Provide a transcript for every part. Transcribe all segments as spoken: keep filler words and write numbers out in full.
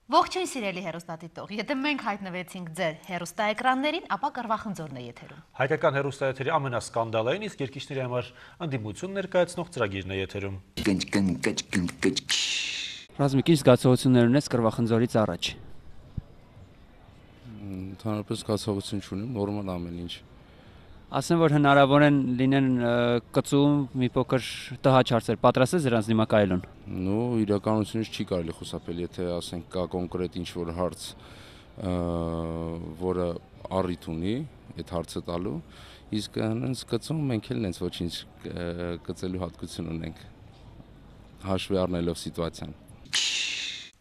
Ողջույն սիրելի հեռուստադիտող, եթե մենք հայտնվեցինք ձեր հեռուստաէկրաններին, ապա կռվախնձորն է եթերում։ Հայկական հեռուստաեթերի ամենասկանդալային, իսկ երկիշների համար ընդդիմություն ներկայացնող ծրագիրն է եթերում։ Ռազմիկ, ինչ զգացողություններ ունես կռվախնձորից առաջ։ Ընդհանրապես զգացողություն չունեմ, նորմալ ամեն ինչ։ Ասեմ, որ հնարավոր են լինեն կծում մի փոքր տհաճ հարցեր, պատրաստ ես դրանց դիմակայելուն։ Նո, իրականությունից չի կարելի խուսափել, եթե ասենք կա կոնկրետ ինչ-որ հարց, որը առիթ ունի այդ հարցը տալու, իսկ հենց կծում մենք էլ հենց ոչինչ կծելու հատկություն ունենք, հաշվի առնելով սիտուացիան։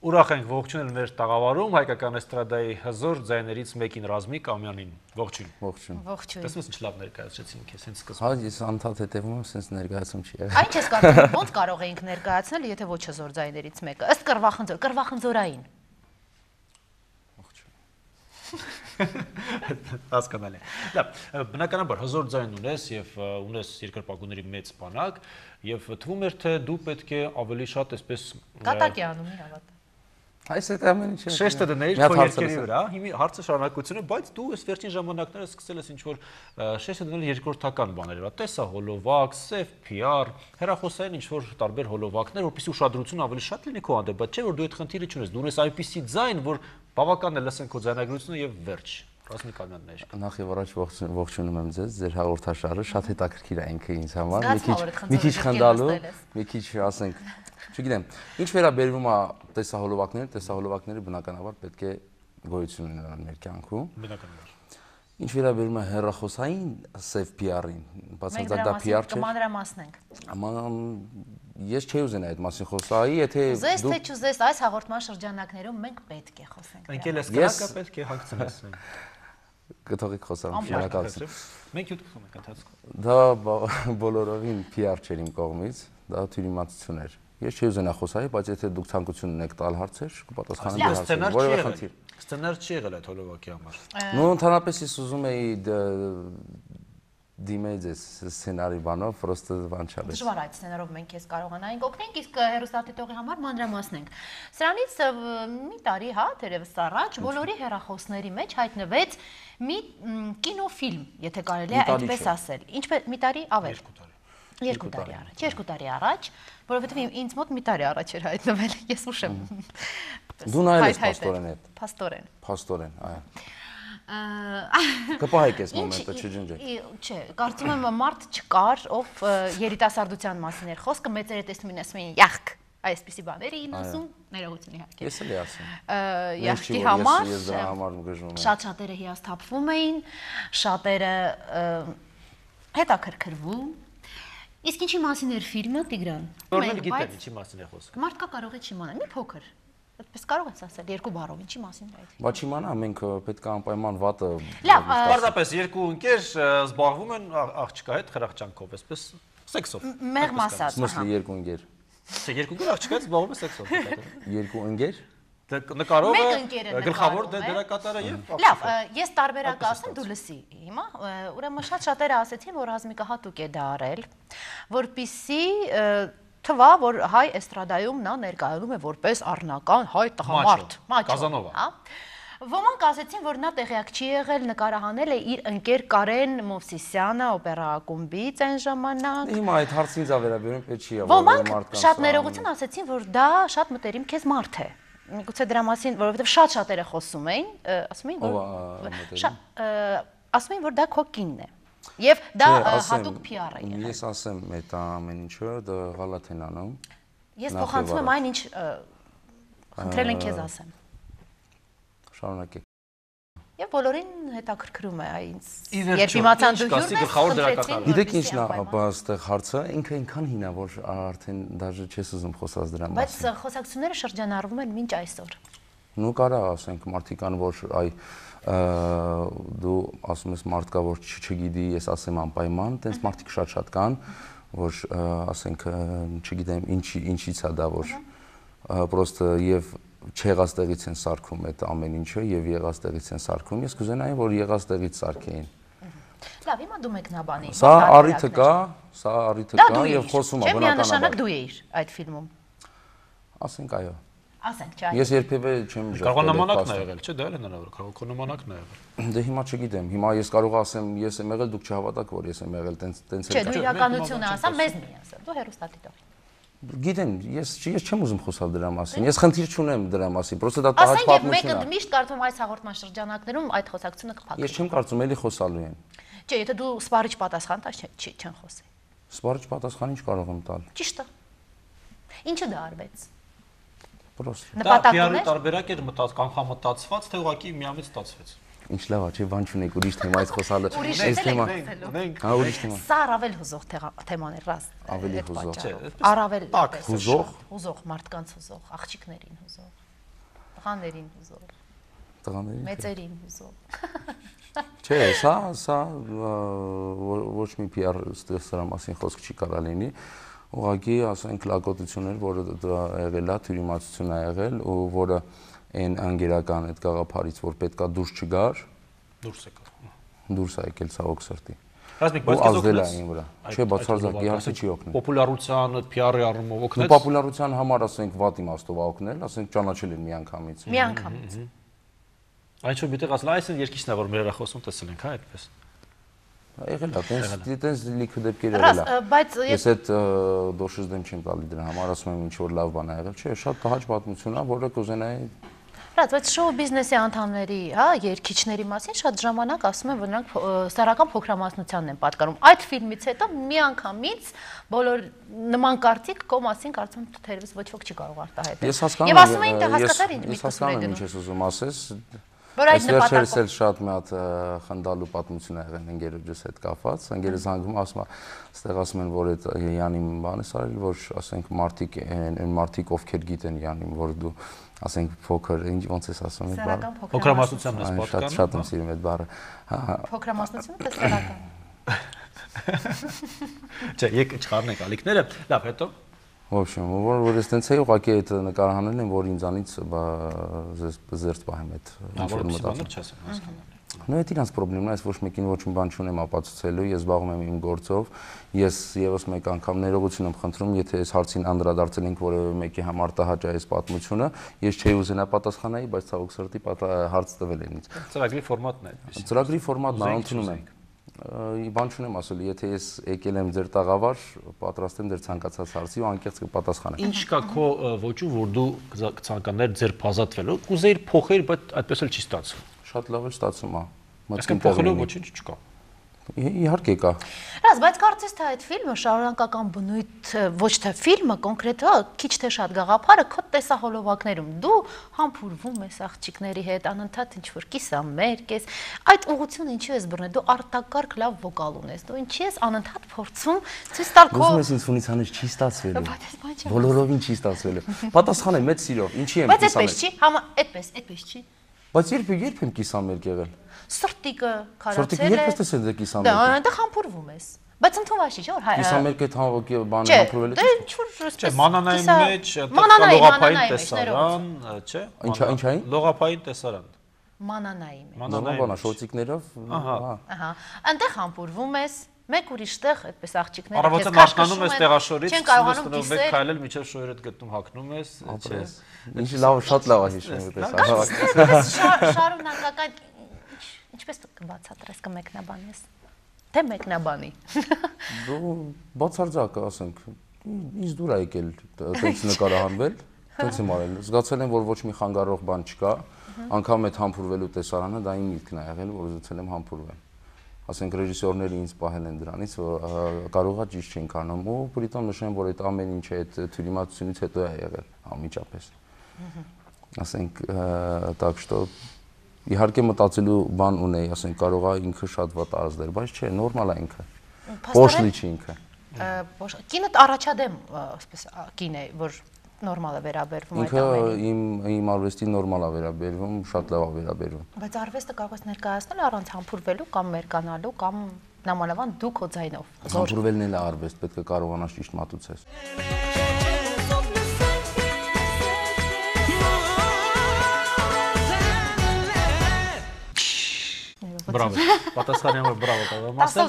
Ուրախ ենք ողջունել մեր տաղավարում հայկական էստրադայի հզոր ձայներից մեկին Ռազմիկ Ամյանին։ Ողջույն։ Ողջույն։ Ողջույն։ Տեսնես ինչ լավ ներկայացրեցինք քեզ հենց սկզբում։ Հա, ես անդադ հետևում եմ, sense ներկայացում չի եղել։ Այն չես կարծում, ոնց կարող էինք ներկայացնել, եթե ոչ հզոր ձայներից մեկը։ Ըստ կռվախնձոր, կռվախնձորային։ Հասկանալի։ Լավ, բնականաբար հզոր ձայն ունես եւ ունես երկրպագուների մեծ բանակ եւ թվում էր թե դու պետք է ավելի շատ այսպես Կատակի անում իր ավատ։ Այս այդ ամեն ինչը շեշտը դնեիր քո երկերի վրա, հիմա հարցը շարունակությունը, բայց դու այս վերջին ժամանակները սկսել ես ինչ-որ շեշտը դնել երկրորդական բաների վրա, տեսահոլովակ, սև փի ար, հեռախոսային ինչ-որ տարբեր հոլովակներ, որպեսզի ուշադրությունը ավելի շատ լինի քո հանդեպ, բայց չէ որ դու այդ խնդիրը չունես, դու ունես այնպիսի ձայն, որ բավական է լսեն քո ձայնագրությունը եւ վերջ։ Ռազմիկ Ամյանն է իշք։ Նախ եւ առաջ ողջունում եմ ձեզ, ձեր հաղորդաշարը շատ հետաքրքիր է ինքը ինձ համար, մի քիչ մի քիչ խնդալու, մի քիչ ասենք, չգիտեմ, ինչ վերաբերվում է տեսահոլովակներին, տեսահոլովակները բնականաբար պետք է գոյություն ունենան մեր կյանքում։ Բնականաբար։ Ինչ վերաբերում է հեռախոսային սև փի ար-ին, բացարձակ դա փի ար չէ։ Կմանրամասնենք։ Աման ես չէի ուզենա այդ մասին խոսայի, եթե Ուզես թե չուզես, այս հաղորդման շրջանակներում մենք պետք է խոսենք։ Ընկել ես կրակը պետք է հագցնես։ Կթողիկ խոսամ շնորհակալություն։ Մենք յուտ խփում ենք ընթացքում։ Դա բոլորովին փի ար չէր իմ կողմից, դա թյուրիմացություն էր։ Ես չի ուզենա խոսայի, բայց եթե դուք ցանկություն ունեք տալ հարցեր, կպատասխանեմ հարցերին։ Որևէ խնդիր։ Սցենար չի եղել այդ հոլովակի համար։ Նո, ընդհանրապես ես ուզում էի դիմեի ձեզ սցենարի բանով, պրոստը բան չալես։ Դժվար այդ սցենարով մենք քեզ կարողանայինք օգնենք, իսկ հեռուստադիտողի համար մանրամասնենք։ Սրանից մի տարի, հա, թերևս առաջ բոլորի հեռախոսների մեջ հայտնվեց մի կինոֆիլմ, եթե կարելի է այդպես ասել։ Ինչպես մի տարի ավեր։ Երկու տարի առաջ, երկու տարի առաջ, որովհետև ինձ մոտ մի տարի առաջ էր հայտնվել, ես ուշ եմ։ Դու նայել ես փաստորեն այդ։ Փաստորեն։ Փաստորեն, այո։ Կպահեք այս մոմենտը, չջնջեք։ Չէ, կարծում եմ մարդ չկար, ով երիտասարդության մասին էր խոսքը, մեծերը տեսնում են ասում էին յախք, այսպիսի բաներ էին ասում, ներողություն իհարկե։ Ես էլ էի ասում։ Յախքի համար ես դրա համար գժվում եմ։ Շատ շատերը հիասթափվում էին, շատերը հետաքրքրվում։ Իսկ ինչի մասին էր ֆիլմը, Տիգրան։ Որն գիտեն ինչի մասին է խոսքը։ Մարդկա կարող է չիմանալ, մի փոքր։ Այդպես կարող ես ասել երկու բառով, ինչի մասին է այդ։ Բա չիմանա, մենք պետք է անպայման վատը։ Լավ, պարզապես երկու ընկեր զբաղվում են աղջկա հետ խրախճանքով, այսպես սեքսով։ Մեղմ ասած։ Մսլի երկու ընկեր։ Չէ, երկու ընկեր աղջկա հետ զբաղվում են սեքսով։ Երկու ընկեր։ Նկարողը գլխավոր դերակատարը եւ Լավ, ես տարբերակ ասեմ, դու լսի հիմա, ուրեմն շատ շատերը ասեցին, որ Ռազմիկը հատուկ է դա արել, որպիսի թվա, որ հայ էստրադայում նա ներկայանում է որպես առնական հայ տղամարդ, Կազանովա։ Ոմանք ասեցին, որ նա տեղյակ չի եղել, նկարահանել է իր ընկեր Կարեն Մովսիսյանը օպերա ակումբից այն ժամանակ։ Հիմա այդ հարցին ինձ վերաբերում պետք չի եղել։ Ոմանք շատ ներողություն ասեցին, որ դա շատ մտերիմ քեզ մարդ է։ Միգուցե դրա մասին, որովհետև շատ շատերը խոսում էին, ասում էին, որ ասում էին, որ դա քո կինն է։ Եվ դա հատուկ փի ար է եղել։ Ես ասեմ այդ ամեն ինչը դա գալաթ են անում։ Ես փոխանցում եմ այն, ինչ խնդրել են քեզ ասեմ։ Շարունակեք։ Եվ բոլորին հետաքրքրում է այնց։ Երբ իմացան դու հյուրն ես, գիտեք ինչն է այստեղ հարցը, ինքը այնքան հին է, որ արդեն դաժե չես ուզում խոսած դրա մասին։ Բայց խոսակցությունները շրջանառվում են մինչ այսօր։ Նու կարա ասենք մարդիկան, որ այ դու ասում ես մարդկա, որ չգիտի, ես ասեմ անպայման, տենց մարդիկ շատ-շատ կան, որ ասենք չգիտեմ ինչից է դա, որ պրոստը եւ չեղած տեղից են սարքում այդ ամեն ինչը եւ եղած տեղից են սարքում։ Ես կուզենայի, որ եղած տեղից սարքեին։ Լավ, հիմա դու մեկնաբանի։ Սա առիթը կա, սա առիթը կա եւ խոսում է բնականաբար։ Միանշանակ բնականաբար։ դու էիր այդ ֆիլմում։ Ասենք այո։ Ասենք, չէ։ Ես երբևէ չեմ ժողովրդել։ Կարող նամանակն է եղել, չէ՞, դա էլ է հնարավոր, կարող քո նամանակն է եղել։ Դե հիմա չգիտեմ, հիմա ես կարող ասեմ, ես եմ եղել, դուք չհավատաք, որ ես եմ եղել, տենց տենց Չէ, դու իրականությունը ասա, մեզ մի ասա, դու հերոստատիտող։ Գիտեմ, ես ես չեմ ուզում խոսալ դրա մասին։ Ես խնդիր չունեմ դրա մասին, պրոստը դա տահաճ պատմություն է։ Ասենք, մեկը միշտ կարծում այս հաղորդման շրջանակներում այդ խոսակցությունը կփակվի։ Ես չեմ կարծում, էլի խոսալու են։ Չէ, եթե դու սպառիչ պատասխան տաս, չի չեն խոսի։ Սպառիչ պատասխան ինչ կարող եմ տալ։ Ճիշտ է։ Ինչը դա արվեց։ Պրոստը։ Դա պի ար-ի տարբերակ էր մտած, կանխամտածված, թե ուղղակի միամիտ ստացվեց։ Ինչ լավ է, չէ, բան չունեք, ուրիշ թեմայից խոսալը։ Այս թեմա։ Հա, ուրիշ թեմա։ Սա առավել հուզող թեման է, ռաստ։ Ավելի հուզող։ Առավել հուզող, հուզող, մարդկանց հուզող, աղջիկներին հուզող, տղաներին հուզող, տղաներին, մեծերին հուզող։ Չէ, սա սա ոչ մի պի ար սրա մասին խոսք չի կարա լինի։ Ուղղակի ասենք լակոտություններ, որը դա եղել է, թյուրիմացություն է եղել ու որը այն անգերական այդ գաղափարից, որ պետքա դուրս չգար, դուրս եկավ։ Դուրս է եկել ցավոք սրտի։ Ռազմիկ, բայց քեզ օգնեց։ Չէ, բացարձակ իհարկե չի օգնել։ Պոպուլարության, պի ար-ի առումով օգնեց։ Ու պոպուլարության համար ասենք վատ իմաստով է օգնել, ասենք ճանաչել են միանգամից։ Միանգամից։ Այն ինչ որ միտեղ ասել, այս երկիչն է որ մեր հերախոսում տեսել ենք, հա, այդպես։ Եղել է, տենց տենց լիքը դեպքեր եղել է։ Բայց ես այդ դոշից դեմ չեմ տալի դրա համար, ասում եմ ինչ որ լավ բան է եղել, չէ, շատ տհաճ պատմություն է, որը կուզենայի։ Բայց շոու բիզնեսի անդամների, հա, երգիչների մասին շատ ժամանակ ասում են, որ նրանք սեռական փոքրամասնությանն են պատկանում։ Այդ ֆիլմից հետո միանգամից բոլոր նման կարծիք կո մասին կարծում եմ թերևս ոչ ոք չի կարող արտահայտել։ Ես հասկանում եմ, եւ ասում էին, թե հասկացար ինչ ես հասկանում եմ ինչ ես ուզում ասես։ Որ այդ նպատակով էլ շատ մի հատ խնդալու պատմություն ա եղել ընկերոջս հետ կապված, ընկերը զանգում ասում է, այստեղ ասում են, որ այդ Յանին բան է արել, որ ասենք մարդիկ այն մարդիկ ովքեր գիտեն Յանին, որ դու ասենք փոքր, ինչ ոնց ես ասում այդ բառը։ Փոքրամասնությանն ես պատկանում։ Շատ եմ սիրում այդ բառը։ Հա, փոքրամասնությունը թե սեռական։ Չէ, եկ չխառնենք ալիքները։ Լավ, հետո В общем, որ որ ես տենց էի ուղղակի այդ նկարահանել եմ, որ ինձանից զերծ պահեմ այդ ինչ որ մտածում։ Նո այդ իրանց խնդիրն է, ես ոչ մեկին ոչ մի բան չունեմ ապացուցելու, ես զբաղվում եմ իմ գործով, ես եւս մեկ անգամ ներողություն եմ խնդրում, եթե այս հարցին անդրադարձել ենք որևէ մեկի համար տհաճ է այս պատմությունը, ես չէի ուզենա պատասխանեի, բայց ցավոք սրտի հարց տվել են ինձ։ Ծրագրի ֆորմատն է այդպես։ Ծրագրի ֆորմատն է, ընդունում եմ։ Բան չունեմ ասել, եթե ես եկել եմ ձեր տաղավար, պատրաստ եմ ձեր ցանկացած հարցի ու անկեղծ կպատասխանեմ։ Ինչ կա քո ոճում, որ դու կցանկանար ձեր բազատվելու, կուզեիր փոխել, բայց այդպես էլ չի ստացվում։ Շատ լավ է ստացվում, հա։ Այսինքն փոխելու ոչինչ չկա։ Իհարկե կա։ Ռազ, բայց կարծես թե այդ ֆիլմը շարունակական բնույթ ոչ թե ֆիլմը կոնկրետ, հա, քիչ թե շատ գաղափարը քո տեսահոլովակներում դու համբուրվում ես աղջիկների հետ, անընդհատ ինչ որ կիսամերկ ես, այդ ուղղությունը ինչու ես բռնել, դու արտակարգ լավ վոկալ ունես, դու ինչի ես անընդհատ փորձում ցույց տալ քո։ Ուզում ես ինձ ֆունից հանես չի ստացվելու։ Բոլորովին չի ստացվելու։ Պատասխանեմ մեծ սիրով, ինչի եմ կիսամերկ։ Բայց այդպես չի, համա, այդպես, այդպես չի։ Բայց երբ երբ եմ կիսամերկ եղել։ Սրտիկը քարացել է։ Սրտիկը երբ ես տեսել դե կիսամերկ։ Դա այնտեղ համբուրվում ես։ Բայց ընդունված չի, չէ՞ որ հայ։ Կիսամերկ այդ հավոքի բանը համբուրվելու։ Չէ, ինչ որ չէ, մանանայի մեջ, լողափային տեսարան, չէ։ Ինչա, ինչային։ Լողափային տեսարան։ Մանանայի մեջ։ Մանանայինը շորտիկներով, ահա։ Ահա։ Այնտեղ համբուրվում ես, մեկ ուրիշտեղ այդպես աղջիկները Առավոտը մաշկանում ես տեղաշորից, չեն կարողանում կիսել, մեկ քայլել միջև շորերդ գտնում հագնում ես, չէ։ Ինչ լավ, շատ լավ է հիշում այդպես։ Շարունակական ինչպես կբացատրես, կմեկնաբանես։ Թե մեկնաբանի։ Դու բացարձակ ասենք, ինձ դուր է եկել այդպես նկարահանվել, այդպես եմ արել։ Զգացել եմ, որ ոչ մի խանգարող բան չկա, անգամ այդ համբուրվելու տեսարանը դա իմ միտքն է եղել, որ ուզեցել եմ համբուրվել։ Ասենք ռեժիսորները ինձ պահել են դրանից, որ կարողա ճիշտ չենք անում ու պրիտոմ նշեմ, որ այդ ամեն ինչը այդ թյուրիմացությունից հետո է եղել անմիջապես։ Ասենք, так что իհարկե մտածելու բան ունեի, ասենք կարողա ինքը շատ վատ ազդել, բայց չէ, նորմալ է ինքը։ Պոշլի չի ինքը։ Կինդ առաջադեմ, ասես կին է, որ նորմալ է վերաբերվում այդ ամենին։ Ինքը իմ իմ արվեստին նորմալ է վերաբերվում, շատ լավ է վերաբերվում։ Բայց արվեստը կարող ես ներկայացնել առանց համբուրվելու կամ մերկանալու կամ նամանավան դու քո ձայնով։ Համբուրվելն էլ է արվեստ, պետք է կարողանաս ճիշտ մատուցես։ Բրավո։ Պատասխանի համար բրավո կարող եմ ասել։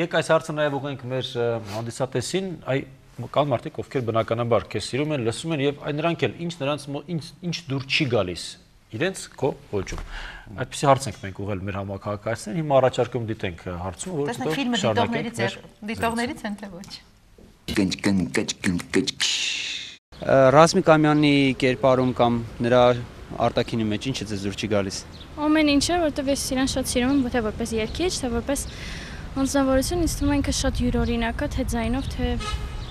Եկ այս հարցը նաև ուղենք մեր հանդիսատեսին, այ կան մարդիկ, ովքեր բնականաբար քեզ սիրում են, լսում են եւ այն նրանք էլ ինչ նրանց ինչ դուր չի գալիս իրենց քո ոճում։ Այդպեսի հարց ենք մենք ուղղել մեր համակարգացին, հիմա առաջարկում դիտենք հարցում, որ հետո ֆիլմը դիտողներից է, դիտողներից են թե ոչ։ Ռազմիկ Ամյանի կերպարում կամ նրա արտաքինի մեջ ինչ է ձեզ դուր չի գալիս։ Ամեն ինչը, որտեղ ես իրան շատ սիրում եմ, թե որպես երգիչ, թե որպես անձնավորություն, ինձ թվում է ինքը շատ յուրօրինակ է, թե ձայնով, թե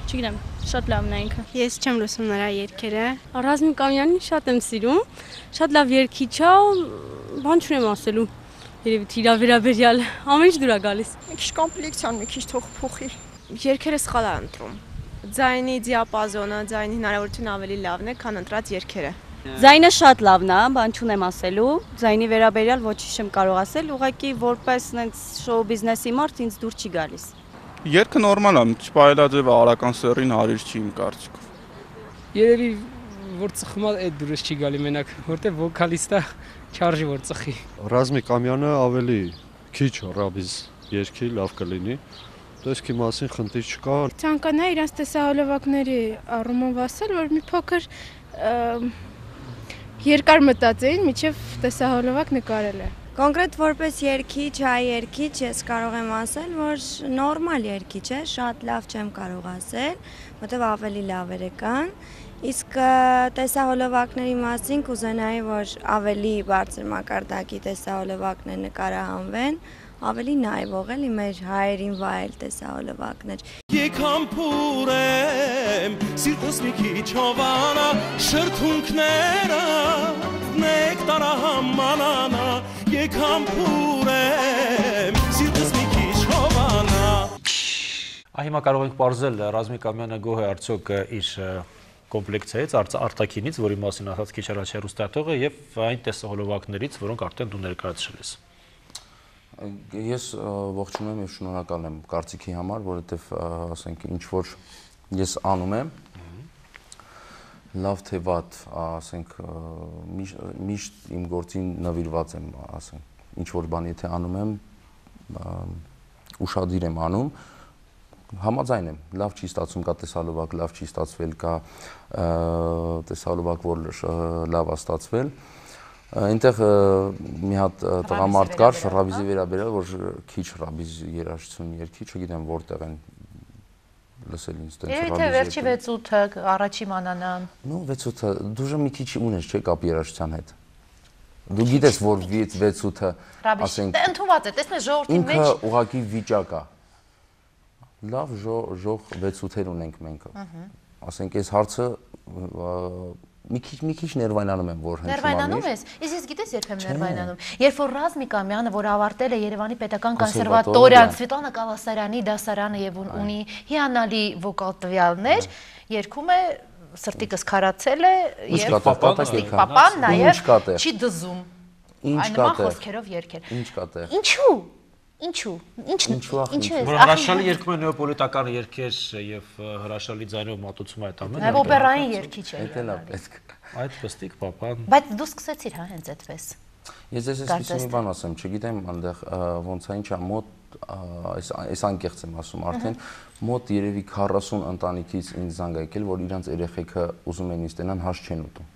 չգիտեմ, շատ լավն է ինքը։ Ես չեմ լսում նրա երգերը։ Ռազմիկ Ամյանին շատ եմ սիրում, շատ լավ երգիչ է, բան չունեմ ասելու։ Երևի իր վերաբերյալ ամեն ինչ դուր է գալիս։ Մի քիչ կոմպլեքսիան, մի քիչ թող փոխի։ Երգերը սխալ է ընտրում։ Ձայնի դիապազոնը, ձայնի հնարավորությունը ավելի լավն է, քան ընտրած երգերը։ Ձայնը շատ լավն է, բան չունեմ ասելու։ Ձայնի վերաբերյալ ոչինչ չեմ կարող ասել, ուղղակի որպես այնց շոու բիզնեսի մարդ ինձ դուր չի գալիս։ Երգը նորմալ է, չպայելաձև արական սերին հարիր չի իմ կարծիքով։ Երևի որ ծխում է այդ դուրս չի գալի մենակ, որտեղ վոկալիստը չարժի որ ծխի։ Ռազմիկ Ամյանը ավելի քիչ ռաբիզ երգի լավ կլինի։ Տեսքի մասին խնդիր չկա։ Ցանկանա իրանց տեսահոլովակների առումով ասել, որ մի փոքր երկար մտածեին, միջև տեսահոլովակ նկարել է։ Կոնկրետ որպես երգիչ, հայ երգիչ ես կարող եմ ասել, որ նորմալ երգիչ է, շատ լավ չեմ կարող ասել, որտեղ ավելի լավերը կան, իսկ տեսահոլովակների մասին կուզենայի, որ ավելի բարձր մակարդակի տեսահոլովակներ նկարահանվեն, ավելի նայվող էլի մեր հայերին վայել տեսահոլովակներ։ Եկամ փուրեմ, սիրտս մի քիչ հովանա, շրթունքները նեկտարա համանանա, եկամ փուրեմ, սիրտս մի քիչ հովանա։ Հիմա կարող ենք պարզել Ռազմիկ Ամյանը գոհ է արդյոք իր կոմպլեկցիայից, արտաքինից, որի մասին ասաց քիչ առաջ հեռուստատողը, եւ այն տեսահոլովակներից, որոնք արդեն դու ներկայացրել ես։ Ես ողջունում եմ եւ շնորհակալ եմ կարծիքի համար, որովհետեւ ասենք ինչ որ ես անում եմ, լավ թե վատ, ասենք միշտ իմ գործին նվիրված եմ, ասենք ինչ որ բան եթե անում եմ, ուշադիր եմ անում, համաձայն եմ, լավ չի ստացվում, կա տեսահոլովակ, լավ չի ստացվել, կա տեսահոլովակ, որ լավ է ստացվել։ Այնտեղ մի հատ տղամարդ կար, ռաբիզի վերաբերյալ, որ քիչ ռաբիզ երաժշտություն երգի, չգիտեմ որտեղ են լսել ինձ տենց ռաբիզ։ Եթե վերջի վեց ութը առաջի մանանան։ Նու վեց ութը դուժը մի քիչ ունես, չէ՞ կապ երաժշտության հետ։ Դու գիտես, որ վեց ութը, ասենք, ընդունված է, տեսնես ժողովրդի մեջ։ Ինքը ուղղակի վիճակ է։ Լավ ժող վեց ութեր ունենք մենք։ Ասենք, այս հարցը մի քիչ մի քիչ ներվայնանում եմ, որ հենց հիմա։ Ներվայնանում ես։ Իսկ ես գիտես երբ եմ ներվայնանում։ Երբ որ Ռազմիկ Ամյանը, որ ավարտել է Երևանի Պետական կոնսերվատորիան, Սվետլանա Կալասարյանի դասարանը եւ ունի հիանալի վոկալ տվյալներ, երգում է սրտիկս քարացել է եւ պապան նաեւ չի դզում։ Ինչ կա տեղ։ Խոսքերով երգել։ Ինչ կա տեղ։ Ինչու։ Ինչու։ Ինչու։ Ինչու է։ Որ հրաշալի երգում է նեոպոլիտական երգեր եւ հրաշալի ձայնով մատուցում է այդ ամենը։ Նաեւ օպերային երգիչ է։ Դա լավ պետք։ Այդ պստիկ պապան։ Բայց դու սկսեցիր, հա, հենց այդպես։ Ես ես այսպես մի բան ասեմ, չգիտեմ, այնտեղ ոնց է ինչա մոտ այս այս անկեղծ եմ ասում արդեն, մոտ երևի քառասուն ընտանիքից ինձ զանգ եկել, որ իրանց երեխեքը ուզում են ինձ տենան հաց չեն ուտում։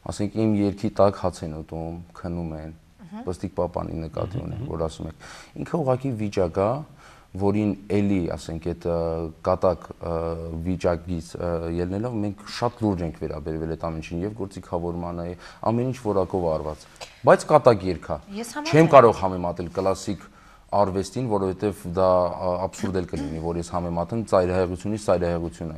Ասենք իմ երգի տակ հաց են ուտում, քնում են։ Պստիկ պապանի նկատի ունեմ, որ ասում եք։ Ինքը ուղղակի վիճակ է, որին էլի, ասենք, այդ կատակ վիճակից ելնելով մենք շատ լուրջ ենք վերաբերվել այդ ամեն ինչին եւ գործիքավորմանը, ամեն ինչ որակով արված։ Բայց կատակ երգ է։ Չեմ կարող համեմատել կլասիկ արվեստին, որովհետեւ դա աբսուրդ էլ կլինի, որ ես համեմատեմ ծայրահեղությունից ծայրահեղությունը։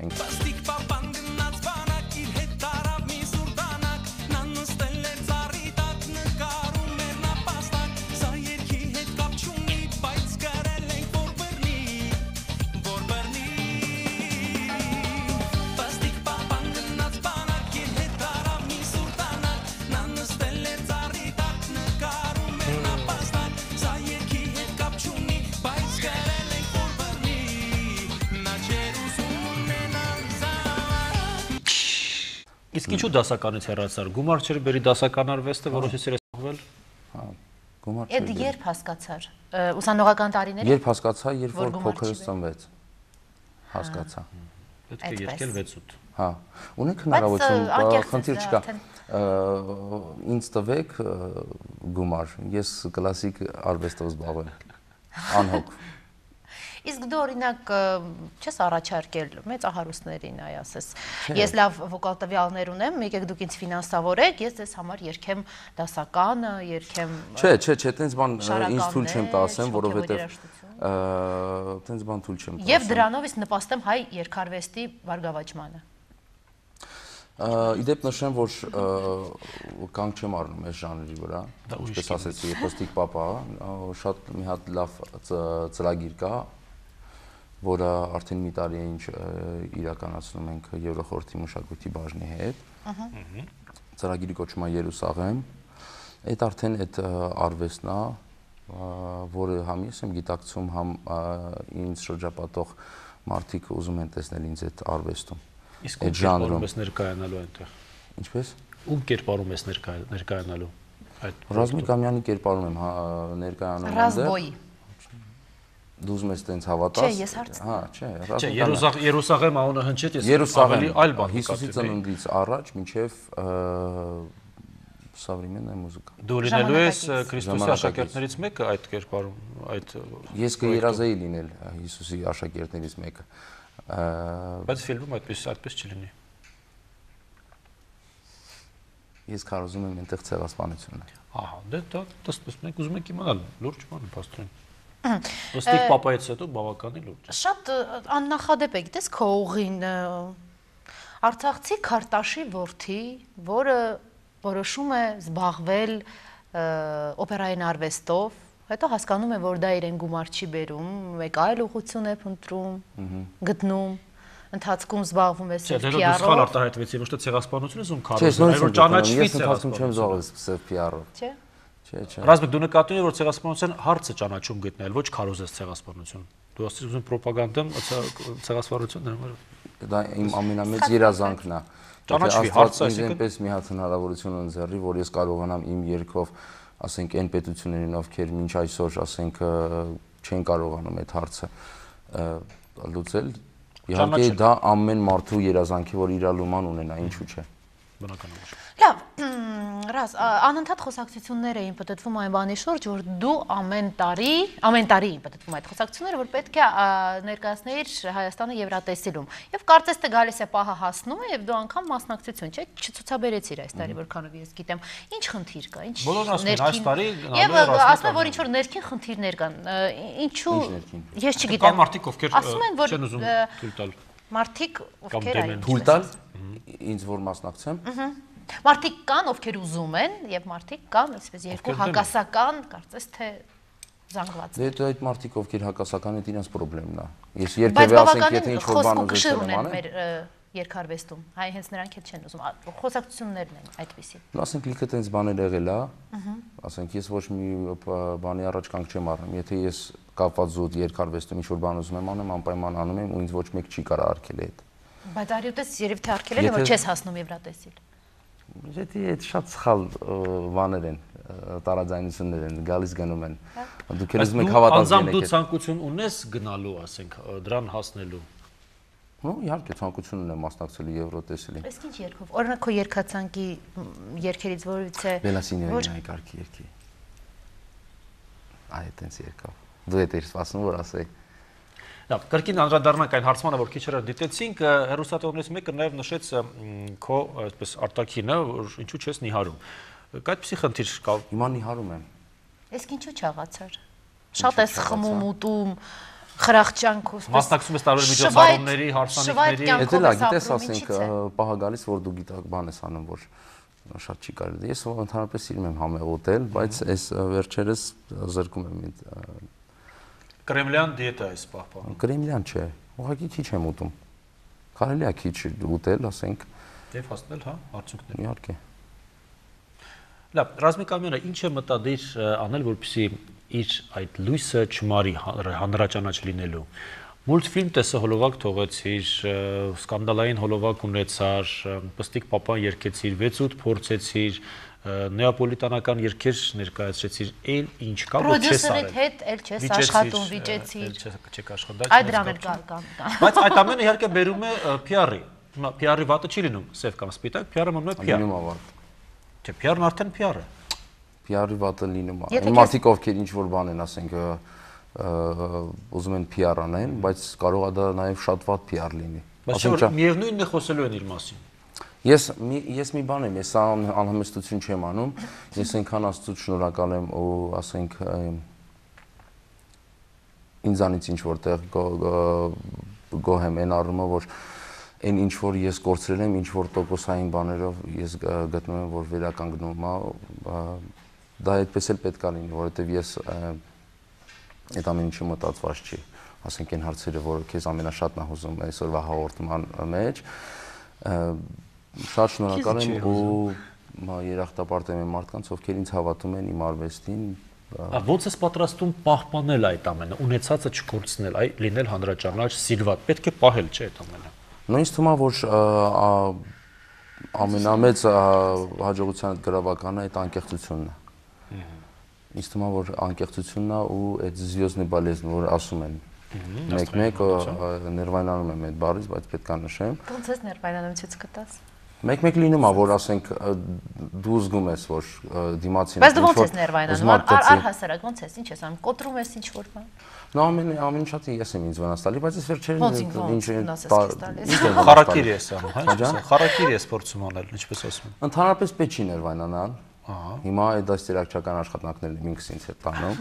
Իսկ ինչու դասականից հեռացար։ Գումար չէր բերի դասական արվեստը, որովհետեւ էր սողվել։ Հա, գումար չէր։ Այդ երբ հասկացար։ Ուսանողական տարիներին։ Երբ հասկացա, երբ որ փոքրս ծնվեց։ Հասկացա։ Պետք է երկել վեց-ութ։ Հա, ունեք հնարավորություն, խնդիր չկա։ Ինձ տվեք գումար, ես կլասիկ արվեստով զբաղվեմ։ Անհոգ։ Իսկ դու օրինակ չես առաջարկել մեծահարուստներին, այ ասես, ես լավ վոկալ տվյալներ ունեմ, եկեք դուք ինձ ֆինանսավորեք, ես ձեզ համար երգեմ դասականը, երգեմ Չէ, չէ, չէ, տենց բան ինձ թույլ չեմ տա ասեմ, որովհետև տենց բան թույլ չեմ տա։ Եվ դրանով ես նպաստեմ հայ երգարվեստի բարգավաճմանը։ Իդեպ նշեմ, որ կանգ չեմ առնում այս ժանրի վրա, ինչպես ասեցի, Կոստիկ Պապա, շատ մի հատ լավ ծրագիր կա, որը արդեն մի տարի է ինչ իրականացնում ենք Եվրոխորհրդի մշակույթի բաժնի հետ։ Ծրագիրի կոչվում է Երուսաղեմ։ Այդ արդեն այդ արվեստն է, որը համ ես եմ գիտակցում, համ ինձ շրջապատող մարդիկ ուզում են տեսնել ինձ այդ արվեստում։ Իսկ ում կերպարում ես ներկայանալու այնտեղ։ Ինչպես։ Ում կերպարում ես ներկայանալու այդ։ Ռազմիկ Ամյանի կերպարում եմ ներկայանում այնտեղ։ Ռազմբոյի։ Դու ուզում ես տենց հավատաս։ Չէ, ես հարցնում։ Հա, չէ, Չէ, Երուսաղեմ անունը հնչեց, ես ավելի այլ բան Հիսուսի ծնունդից առաջ մինչև Սավրիմեննա մուզիկա։ Դու լինելու ես Քրիստոսի աշակերտներից մեկը այդ կերպարում, այդ Ես կերազեի լինել Հիսուսի աշակերտներից մեկը։ Բայց ֆիլմում այդպես այդպես չլինի։ Ես կարծում եմ այնտեղ ցեղասպանությունն է։ Ահա, դե դա դες մենք ուզում ենք իմանալ լուրջ բան փաստորեն։ Կոստիկ Պապայից հետո բավականին լուրջ։ Շատ աննախադեպ է, գիտես քո ուղին Արցախցի Քարտաշի որդի, որը որոշում է զբաղվել օպերային արվեստով, հետո հասկանում է, որ դա իրեն գումար չի բերում, մեկ այլ ուղղություն է փնտրում, գտնում, ընթացքում զբաղվում է սև պի առով։ Դե դու սխալ արտահայտվեցի, ոչ թե ցեղասպանությունը ում քարոզը, այլ որ ճանաչվի ցեղասպանությունը։ Սև պի առով։ Չէ։ Չէ, չէ։ Ռազմիկ դու նկատում ես, որ ցեղասպանության հարցը ճանաչում գտնել, ոչ քարոզես ցեղասպանություն։ Դու ասես ուզում պրոպագանդան ցեղասպանություն դրանով։ Դա իմ ամենամեծ երազանքն է։ Ճանաչվի հարցը, այսինքն այնպես մի հատ հնարավորություն ընձեռի, որ ես կարողանամ իմ երգով, ասենք, այն պետություններին, ովքեր մինչ այսօր, ասենք, չեն կարողանում այդ հարցը լուծել, իհարկե դա ամեն մարդու երազանքի, որ իր լուման ունենա, ինչու՞ չէ։ Բնականաբար։ Լավ, Ռազ, անընդհատ խոսակցություններ էին պատտվում այն բանի շուրջ, որ դու ամեն տարի, ամեն տարի էին պատտվում այդ խոսակցությունները, որ պետք է ներկայացնեիր Հայաստանը Եվրատեսիլում։ Եվ կարծես թե գալիս է պահը հասնում է եւ դու անգամ մասնակցություն, չէ՞, չցուցաբերեցիր այս տարի, որքանով ես գիտեմ։ Ինչ խնդիր կա, ինչ ներքին։ Եվ ասում են, որ ինչ որ ներքին խնդիրներ կան։ Ինչու ես չգիտեմ։ Կան մարդիկ, ովքեր ասում են, որ չեն ուզում թույլ տալ։ Մարդիկ, ովքեր այն թույլ տալ, ինձ որ մասնակցեմ։ Մարդիկ կան, ովքեր ուզում են, եւ մարդիկ կան, այսպես երկու հակասական, կարծես թե զանգված։ Դե դա այդ մարդիկ, ովքեր հակասական են, իրենց խնդիրն է։ Ես երբևէ ասենք, եթե ինչ որ բան ուզում եմ անել, մեր երկարվեստում, հայ հենց նրանք էլ չեն ուզում, խոսակցություններն են այդպեսին։ Ու ասենք լիքը տենց բաներ եղել է, ասենք ես ոչ մի բանի առաջ կանգ չեմ առնում, եթե ես կապված զուտ երկարվեստում ինչ որ բան ուզում եմ անեմ, անպայման անում եմ ու ինձ ոչ մեկ չի կարող արգել այդ։ Բայց արյութես երևի թե արգել են, որ չես հասնում Եվրատեսիլ։ Եթե այդ շատ սխալ բաներ են, տարաձայնություններ են, գալիս գնում են։ Դուք էլ ուզում եք հավատալ եք։ Անձամբ դու ցանկություն ունես գնալու, ասենք, դրան հասնելու։ Նո, իհարկե ցանկություն ունեմ մասնակցելու Եվրոտեսիլին։ Իսկ ինչ երգով։ Օրինակ քո երգացանկի երգերից որից է։ Բելասինյանի կարգի երգի։ Այ այդպես երկավ։ Դու եք սպասում որ ասեի։ Լավ, կրկին անդրադառնանք այն հարցմանը, որ քիչ առաջ դիտեցինք, հեռուստատողներից մեկը նաև նշեց քո այսպես արտաքինը, որ ինչու չես նիհարում։ Կայդպիսի խնդիր կա։ Հիմա նիհարում եմ։ Իսկ ինչու չաղացար։ Շատ ես խմում, ուտում, խրախճանքով, մասնակցում ես տարբեր միջոցառումների, հարսանիքների։ Դա լա, գիտես, ասենք, պահա գալիս, որ դու գիտակ բան ես անում, որ շատ չի կարելի։ Ես ընդհանրապես սիրում եմ համեղ ուտել, բայց այս վերջերս զրկում եմ ինձ։ Կրեմլյան դիետա է պահպանում։ Կրեմլյան չէ, ուղղակի քիչ եմ ուտում։ Կարելի է քիչ ուտել, ասենք։ Եվ հասնել, հա, արդյունքներ։ Իհարկե։ Լավ, Ռազմիկ Ամյանը ինչ է մտադիր անել, որպեսզի իր այդ լույսը չմարի հանրաճանաչ լինելու։ Մուլտֆիլմ տեսը հոլովակ թողեցիր, սկանդալային հոլովակ ունեցար, Պստիկ պապան երգեցիր, վեց ութ փորձեցիր, նեապոլիտանական երգեր ներկայացրեցիր, էլ ինչ կա, որ չես արել։ Պրոդյուսերիդ հետ էլ չես աշխատում, վիճեցիր։ Չեք աշխատում։ Այդ դրան էլ կա։ Բայց այդ ամենը իհարկե բերում է P R-ի։ P R-ի վատը չի լինում, սև կամ սպիտակ, P R-ը մնում է P R։ Լինում է վատ։ Չէ, P R-ն արդեն P R է։ P R-ի վատը լինում է։ Այն մարդիկ ովքեր ինչ որ բան են, ասենք ուզում են P R անեն, բայց կարող է դա նաև շատ վատ P R լինի։ Բայց չէ, միևնույնն է խոսելու են իր մասին։ Ես ես մի բան եմ, ես անհամեստություն չեմ անում, ես այնքան Աստծուց շնորհակալ եմ ու ասենք ինձանից ինչ որտեղ գոհ եմ այն առումով, որ այն ինչ որ ես կորցրել եմ, ինչ որ տոկոսային բաներով ես գտնում եմ, որ վերականգնում է, դա այդպես էլ պետք է լինի, որովհետև ես այդ ամեն ինչը մտածված չի, ասենք այն հարցերը, որ քեզ ամենաշատն է հուզում այսօրվա հաղորդման մեջ, շատ շնորհակալ եմ ու երախտապարտ եմ մարդկանց, ովքեր ինձ հավատում են իմ արվեստին։ Ոնց ես պատրաստում պահպանել այդ ամենը, ունեցածը չկորցնել, այ լինել հանրաճանաչ, սիրված, պետք է պահել, չէ՞ այդ ամենը։ Նույնիսկ թվում է, որ ամենամեծ հաջողության գրավականը այդ անկեղծությունն է։ Ինձ թվում է, որ անկեղծությունն է ու այդ զվյոզնի բալեզն, որ ասում են մեկ-մեկ ներվայնանում եմ այդ բառից, բայց պետք է նշեմ։ Ոնց ես ներվայնանում, ցույց կտաս։ Մեկ-մեկ լինում է, որ ասենք դու զգում ես, որ դիմացին Բայց դու ոնց ես ներվայնանում, առհասարակ ոնց ես, ինչ ես անում, կոտրում ես ինչ որ բան։ Նո ամեն ամեն ինչը ես եմ ինձ վնաս տալի, բայց ես վերջերին ինչ խարակիր ես անում, հա՞, խարակիր ես փորձում անել, ինչպես ասում են։ Ընդհանրապես պետք չի ներվայնանալ։ Հիմա այդ դաստիարակչական աշխատանքներն եմ ինքս ինձ հետ տանում։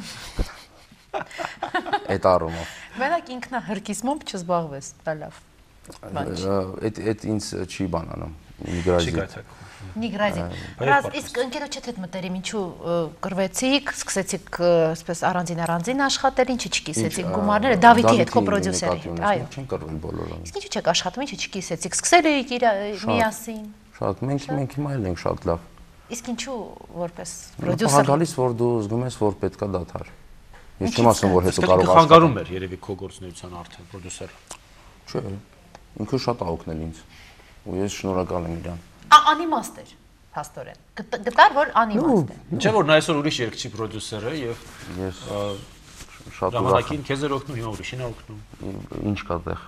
Այդ առումով։ Մենակ ինքնահրկիզմով չզբաղվես, դա լավ։ Այդ այդ ինձ չի բանանում։ Միգրազի։ Միգրազի։ Ռազ, իսկ ընկերոջդ հետ մտերիմ ինչու կրվեցիք, սկսեցիք այսպես առանձին առանձին աշխատել, ինչի չկիսեցիք գումարները Դավիթի հետ, կոպրոդյուսերի հետ, այո։ Չեն կրվել բոլորը։ Իսկ ինչու չեք աշխատում, ինչի չկիսեցիք, սկսել էիք միասին։ Շատ, մենք մենք հիմա էլ ենք շատ լավ։ Իսկ ինչու որպես պրոդյուսեր։ Գալիս որ դու զգում ես, որ պետքա դադար։ Ես չեմ ասում, որ հետո կարող ես խանգարում էր երևի քո գործունեության արդեն պրոդյուսերը։ Չէ, ինքը շատ ա օգնել ինձ։ Ու ես շնորհակալ եմ իրան։ Անիմաստ էր, փաստորեն։ Գտար, որ անիմաստ է։ Չէ՞ որ նա այսօր ուրիշ երգչի պրոդյուսեր է եւ ես շատ ժամանակին քեզ էր օգնում, հիմա ուրիշին է օգնում։ Ինչ կա տեղ։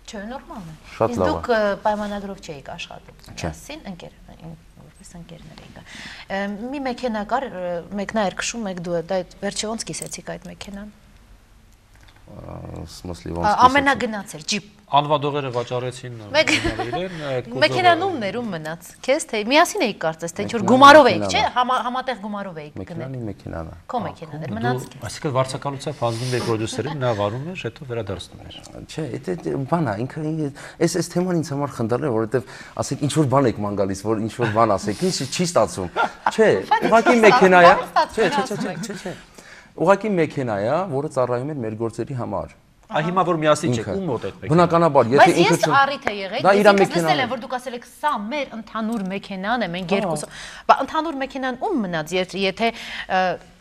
Չէ, նորմալ է։ Շատ լավ է։ Դուք պայմանագրով չէիք աշխատում։ Միասին ընկեր, որպես ընկերներ էիք։ Մի մեքենա կար, մեկն էր քշում, մեկ դու, դա վերջի ոնց կիսեցիք այդ մեքենան։ Սմոսլի ոնց կիսեցիք։ Ամենագնաց էր, ջիպ։ Անվադողերը վաճառեցին իրեն։ Մեքենանում ներ ում մնաց։ Քեզ թե միասին էիք կարծես, թե ինչ որ գումարով էիք, չէ՞, համատեղ գումարով էիք գնել։ Մեքենանի մեքենան է։ Քո մեքենան էր, մնաց քեզ։ Այսինքն վարձակալությամբ հանձնում եք պրոդյուսերին, նա վարում էր, հետո վերադարձնում էր։ Չէ, դա բան է, ինքը այս այս թեման ինձ համար խնդրել է, որովհետև ասեք ինչ որ բան եք ման գալիս, որ ինչ որ բան ասեք, ինչ չի ստացվում։ Չէ, ուղղակի մեքենա է։ Չէ, չէ, չէ, չէ, չէ։ Ուղղակի մեքենա է, որը ծառայում է մեր գործերի համար։ Այ հիմա որ միասին չեք, ում մոտ այդ մեքենան։ Բնականաբար, եթե ինքը Բայց ես առիթ է եղել, ես լսել եմ, որ դուք ասել եք, սա մեր ընդհանուր մեքենան է, մենք երկուսը։ Բա ընդհանուր մեքենան ում մնաց, եթե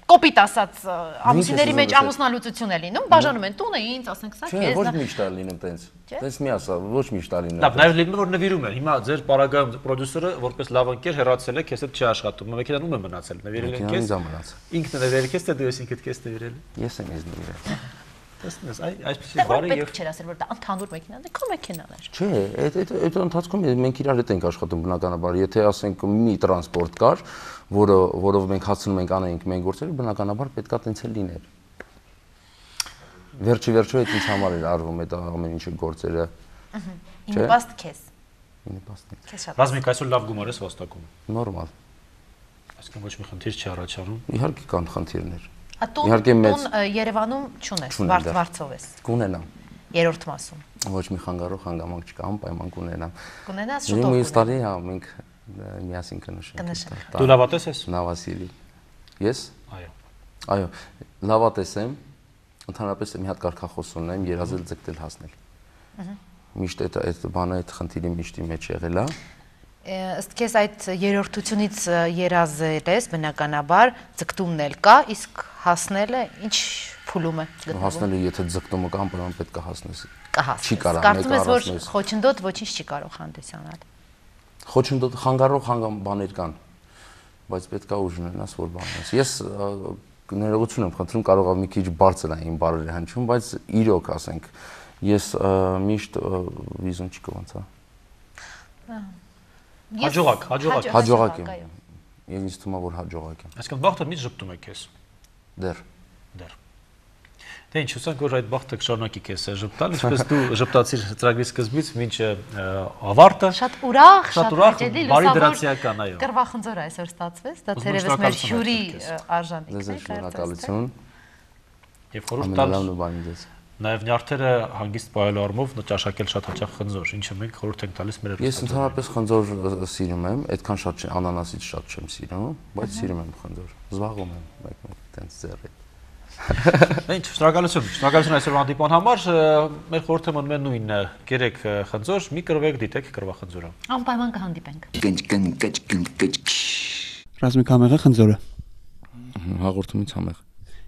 կոպիտ ասած ամուսինների մեջ ամուսնալուծություն է լինում, բաժանում են տունը ինձ, ասենք սա քեզ։ Չէ, ոչ միշտ է լինում տենց։ Տենց մի ասա, ոչ միշտ է լինում։ Լավ, նաև լինում է որ նվիրում են։ Հիմա ձեր պարագայում պրոդյուսերը որպես լավ ընկեր հեռացել է, քեզ հետ չի աշխատում։ Մեքենան ում է մնացել, նվիրել են քեզ։ Ինքն է նվիրել քեզ, թե դու ես ինքդ քեզ նվիրել։ Ես եմ ես նվիրել։ Տեսնես, այ այսպեսի բարի եւ չէր ասել որ դա ընդհանուր մեքենան է, քո մեքենան է։ Չէ, այդ այդ այդ ընթացքում մենք իրար հետ ենք աշխատում բնականաբար, եթե ասենք մի տրանսպորտ կար, որը որով մենք հացնում ենք անենք մենք գործերը, բնականաբար պետքա տենց էլ լիներ։ Վերջի վերջո այդ ինձ համար էր արվում այդ ամեն ինչը գործերը։ Ահա։ Ինպաստ քեզ։ Ինպաստ։ Քեզ շատ։ Ռազմիկ այսօր լավ գումար ես վաստակում։ Նորմալ։ Այսինքն ոչ մի խնդիր չի առաջանում։ Իհարկե կան խնդիրներ։ Իհարկե մեծ Երևանում չունես, վարձով ես։ Կունենամ։ Երրորդ մասում։ Ոչ մի խանգարող հանգամանք չկա, անպայման կունենամ։ Կունենաս շուտով։ Մյուս տարի հա մենք միասին կնշենք։ Դու լավատես ես։ Նավասիրի։ Ես։ Այո։ Այո, լավատես եմ։ Ընդհանրապես մի հատ կարգախոս ունեմ, երազել ձգտել հասնել։ Միշտ այդ այդ բանը այդ խնդիրի միշտի մեջ եղել է։ Ըստ քեզ այդ երրորդությունից երազել ես բնականաբար ձգտումն էլ կա, իսկ հասնելը ինչ փուլում է գտնվում։ Հասնելը եթե ձգտումը կա, ապա պետք է հասնես։ Չի կարող։ Կարծում ես, որ խոչընդոտ ոչինչ չի կարող հանդիսանալ։ Խոչընդոտ խանգարող հանգամ բաներ կան, բայց պետք է ուժ ունենաս, որ բանես։ Ես ներողություն եմ խնդրում, կարող է մի քիչ բարձր է իմ բառերը հնչում, բայց իրոք ասենք, ես միշտ վիզուն չի կողանցա։ Հաջողակ, հաջողակ։ Հաջողակ եմ։ Եվ ինձ թվում է, որ հաջողակ եմ։ Այսինքն բախտը մի ժպտում է քեզ։ Դեռ։ Դեռ։ Դե ինչ, հուսանք, որ այդ բախտը կշարունակի քեզ ժպտալ, ինչպես դու ժպտացիր ծրագրի սկզբից մինչ ավարտը։ Շատ ուրախ, շատ ուրախ, բարի դրացիական, այո։ Կռվախնձոր այսօր ստացվեց, դա թերևս մեր հյուրի արժանիքն է։ Ձեզ շնորհակալություն։ Եւ խորհուրդ տալ ամենալավն ու բանի ձեզ։ Նաև նյարդերը հանգիստ պահելու առումով ճաշակել շատ հաճախ խնձոր, ինչը մենք խորհուրդ ենք տալիս մեր Ես ընդհանրապես խնձոր սիրում եմ, այդքան շատ չեմ, անանասից շատ չեմ սիրում, բայց սիրում եմ խնձոր։ Զբաղվում եմ մեկ-մեկ տենց ձեռի։ Ինչ, շնորհակալություն, շնորհակալություն այսօր հանդիպման համար, մեր խորհուրդը մնում է նույնը, կերեք խնձոր, մի կռվեք, դիտեք կռվախնձորը։ Անպայման կհանդիպենք։ Ռազմիկ համեղ է խնձորը։ Հաղորդումից համեղ։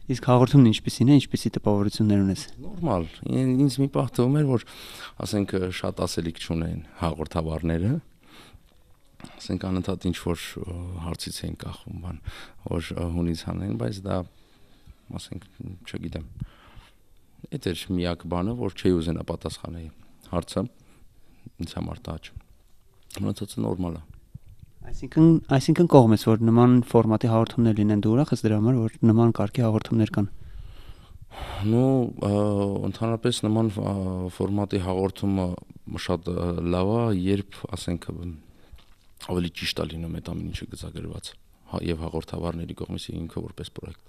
Իսկ հաղորդումն ինչպիսին է, ինչպիսի տպավորություններ ունես։ Նորմալ, ինձ մի պահ թվում էր, որ ասենք շատ ասելիք չունեն հաղորդավարները, ասենք անընդհատ ինչ որ հարցից էին կախում, բան, որ հունից հանեն, բայց դա ասենք, չգիտեմ, այդ էր միակ բանը, որ չի ուզենա պատասխանել հարցը, ինձ համար տաճ, մնացածը նորմալ է։ Այսինքն, այսինքն կողմ ես, որ նման ֆորմատի հաղորդումներ լինեն, դու ուրախ ես դրա համար, որ նման կարգի հաղորդումներ կան։ Ну, ընդհանրապես նման ֆորմատի հաղորդումը շատ լավ է, երբ, ասենք, ավելի ճիշտ է լինում այդ ամեն ինչը գծագրված, եւ հաղորդավարների կողմից ինքը որպես պրոյեկտ։